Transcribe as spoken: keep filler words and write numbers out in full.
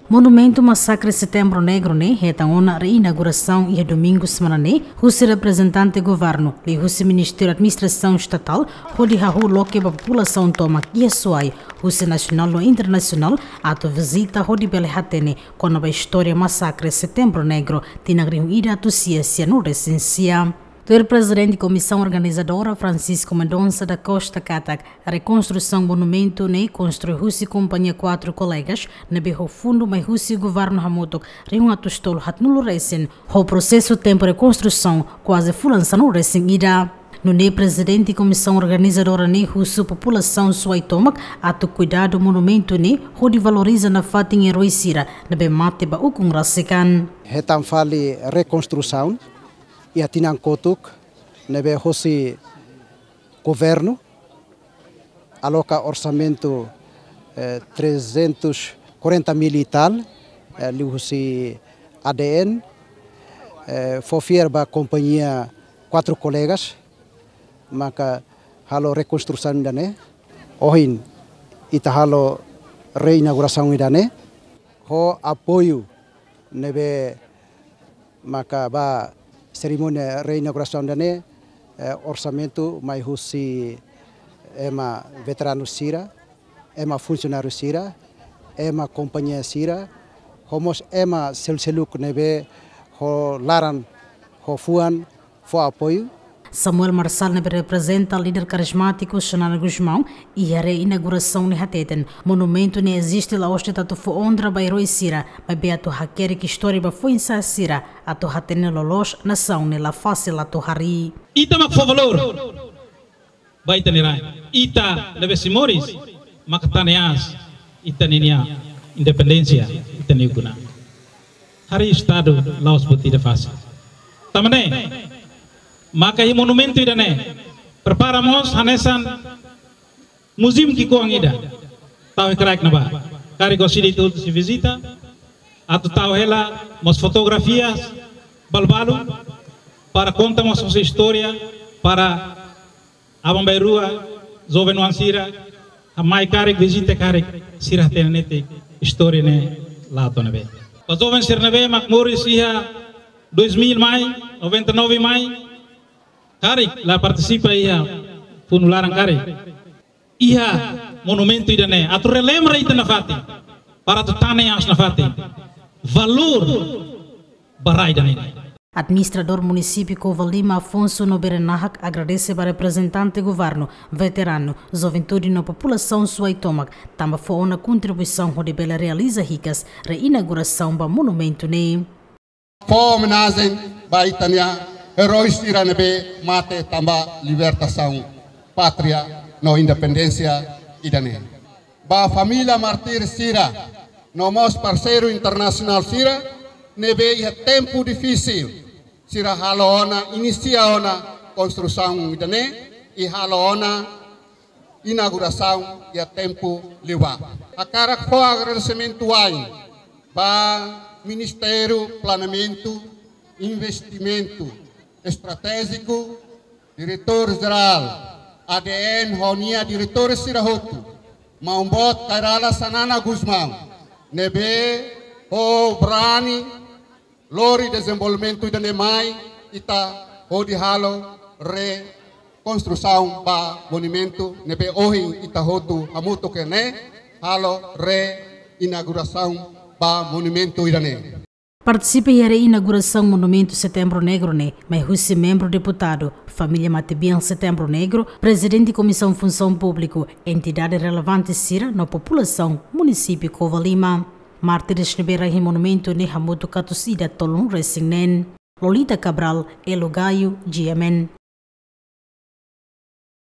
Monumentu Masakre Setembru Negru ne'e hetan ona reinaugurasaun iha domingu semana ne'e, husi reprezentante governu, liuhusi Ministériu Administrasaun Estatál, hodi hahú loke ba populasaun tomak iha Suai, husi nasionál no internasionál, atu vizita hodi bele hatene kona-ba istória Masakre Setembru Negru, tinan rihun ida atus sia sianulu-resin-sia. Tuir Prezidente Komisaun Organizadora, Francisco Mendonça da Costa, katak rekonstrusaun monumentu ne'e konstrui husi kompañia Quatro Colegas, ne'ebé ho fundu mai husi governu hamutuk rihun atus tolu haatnulu-resin, ho prosesu tempu rekonstrusaun kuaze fulan sanulu-resin-ida. Nune'e Prezidente Komisaun Organizadora ne'e husu populasaun Suai tomak atu kuidadu monumentu ne'e hodi valoriza nafatin eroi sira ne'ebé mate ba ukun rasik an. Hetan fali rekonstrusaun iha tinan kotuk, ne'ebé hosi governu aloka orsamentu, eh, trezentos quarenta mil e tal, eh, liuhusi A D N, eh, fó fiar ba kompañia Quatro Colegas, maka halo rekonstrusaun ida-ne'e. Ohin ita halo reinaugurasaun ida-ne'e, ho apoiu ne'ebé maka ba serimónia reinaugurasaun ida-ne'e, eh, orsamentu mai husi ema veteranu sira, ema funsionáriu sira, ema kompañia sira, ho mós ema seluk-seluk ne'ebé ho laran, ho fuan, fó apoiu. Samuel Marçal, ne'ebé reprezenta líder karizmátiku Xanana Gusmão, iha reinaugurasaun ne'e hateten, monumentu ne'e eziste la'ós de'it atu fó onra ba eroi sira, maibé atu hakerek istória ba foin-sa'e sira, atu hatene loloos nasaun ne'e la fasil atu harii. Ita mak fó valór ba ita-nia rai. Ita ne'ebé sei moris, maka tane aas ita-nia independénsia, ita-nia ukun an. Harii Estadu la'ós buat ida fasil. Tanba ne'e, maka iha monumentu ida-ne'e prepara mós hanesan museum ki'ikoan ida. Tau iha kraik ne'ebá. Karik orsida ita hotu sei vizita, atu tau hela mós fotografias balu-balu, para konta mós nossa istória, para aban-bainrua, joven oan sira, mai karik vizita karik, sira hatene netik istória ne'e la'o to'o ne'ebé. Ba joven sira ne'ebé mak moris iha dois mil mai, noventa e nove mai, karik la partisipa iha funu laran karik, iha monumentu ida-ne'e atu relembra ita nafatin, para atu tane aas nafatin valór ba rai ida-ne'e. Administradór Munisípiu Covalima, Afonso Noberenahak, agradese ba reprezentante governu, veteranu, juventude no populasaun Suai tomak, tanba fó ona kontribuisaun hodi bele realiza hikas reinaugurasaun ba monumentu ne'e. Fó omenajen ba ita-nia eroi sira ne'ebé mate tanba libertasaun pátria no independénsia ida-ne'e. Ba família mártir sira, no mós parseiru internasionál sira, ne'ebé iha tempu difisil, sira halo ona, inisia ona konstrusaun ida-ne'e, i halo ona inaugurasaun iha tempu liubá. Hakarak fó agradesimentu wa'in ba Ministériu Planeamentu, Investimentu Estratéjiku, Diretór Jerál A D N ho nia diretór sira hotu, Maun Boot Kay Rala Xanana Gusmão, ne'ebé ho brani lori dezenvolvimentu ida-ne'e mai, ita hodi halo rekonstrusaun ba monumentu ne'ebé ohin ita hotu hamutuk iha ne'e, halo reinaugurasaun ba monumentu ida-ne'e. Partisipa iha reinaugurasaun Monumentu Setembru Negru ne'e, mai husi membru deputadu, família matebian Setembru Negru, prezidente Komisaun Funsaun Públiku, entidade relevante sira no populasaun munisípiu Covalima. Mártires ne'ebé rai iha monumentu ne'e hamutuk atus ida tolunulu-resin-neen. Lolita Cabral, Elo Gayo, G M N.